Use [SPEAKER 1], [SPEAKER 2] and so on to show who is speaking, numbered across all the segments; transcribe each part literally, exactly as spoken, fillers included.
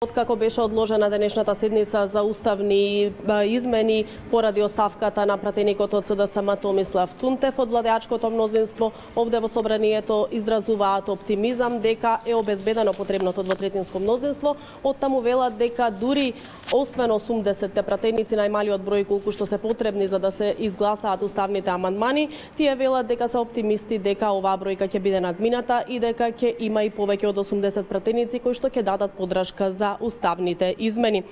[SPEAKER 1] Откако беше одложена денешната седница за уставни измени поради оставката на пратеникот од СДСМ Томислав Тунтев од владеачкото мнозинство, овде во собранието изразуваат оптимизам дека е обезбедено потребното двотретинско мнозинство. Оттаму велат дека дури освен осумдесет пратеници, најмалиот број колку што се потребни за да се изгласаат уставните амандмани, тие велат дека се оптимисти дека оваа бројка ќе биде надмината и дека ќе има и повеќе од осумдесет пратеници кои што ќе дадат поддршка за уставните измени.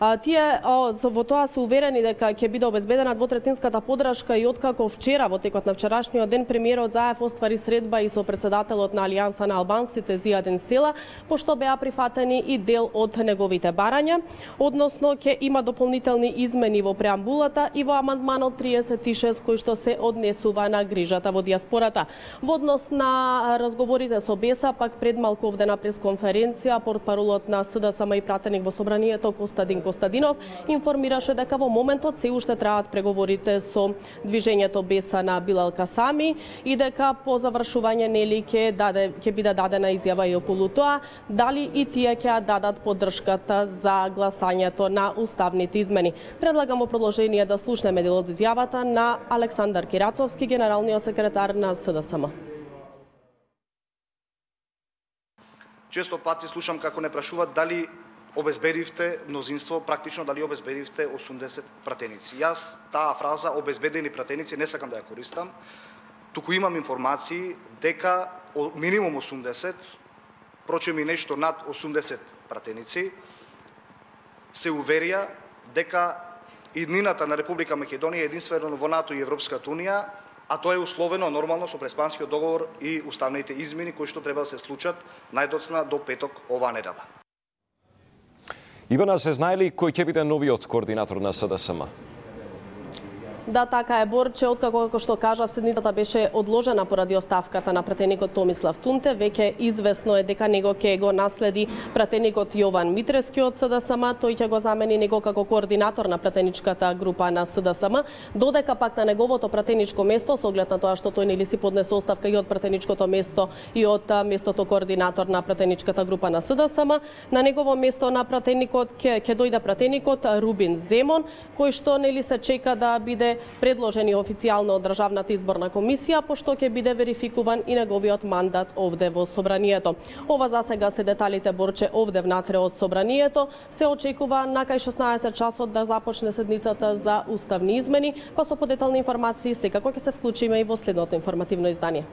[SPEAKER 1] А, тие о, во тоа се уверени дека ќе биде обезбедена двотретинската поддршка и откако вчера, во текот на вчерашниот ден, премиерот Заев оствари средба и со председателот на Алијанса на албанците Зијад Енсела, пошто беа прифатени и дел од неговите барања, односно ќе има дополнителни измени во преамбулата и во амандманот триесет и шест кој што се однесува на грижата во диаспората. Во однос на разговорите со Беса, пак пред малку овде на пресконференција, портпаролот на СДСМ и пратеник во собранието Костадин Костадинов информираше дека во моментот се уште траат преговорите со движењето Беса на Билал Касами и дека по завршување нели ќе даде ќе биде дадена изјава и околу тоа дали и тие ќе дадат поддршката за гласањето на уставните измени. Предлагам во продолжение да слушнеме дел од изјавата на Александар Кирацовски, генералниот секретар на СДСМ.
[SPEAKER 2] Често пати слушам како не прашуваат дали обезбедивте мнозинство, практично дали обезбедивте осумдесет пратеници. Јас таа фраза обезбедени пратеници не сакам да ја користам, туку имам информации дека минимум осумдесет, прочем и нешто над осумдесет пратеници, се уверија дека иднината на Република Македонија е единствено во НАТО и Европската Унија, а тоа е условено нормално со Преспанскиот договор и уставните измени кои што треба да се случат најдоцна до петок оваа недела.
[SPEAKER 3] Ивана, се знае ли кој ќе биде новиот координатор на СДСМ?
[SPEAKER 1] Да, така е, Борче, откако како што кажав, седницата беше одложена поради оставката на пратеникот Томислав Тунтев, веќе известно е дека него ќе го наследи пратеникот Јован Митрески од СДСМ, тој ќе го замени него како координатор на пратеничката група на СДСМ, додека пак на неговото пратеничко место, со оглед на тоа што тој нели си поднесе оставка и од пратеничкото место и од местото координатор на пратеничката група на СДСМ, на негово место на пратеникот ќе ќе дојде пратеникот Рубин Земон, кој што нели се чека да биде предложени официјално од Државната изборна комисија, пошто ќе биде верификуван и неговиот мандат овде во собранието. Ова за сега се деталите, Борче, овде внатре од собранието. Се очекува на кај шеснаесет часот да започне седницата за уставни измени, па со подетални информации секако ќе се вклучиме и во следното информативно издание.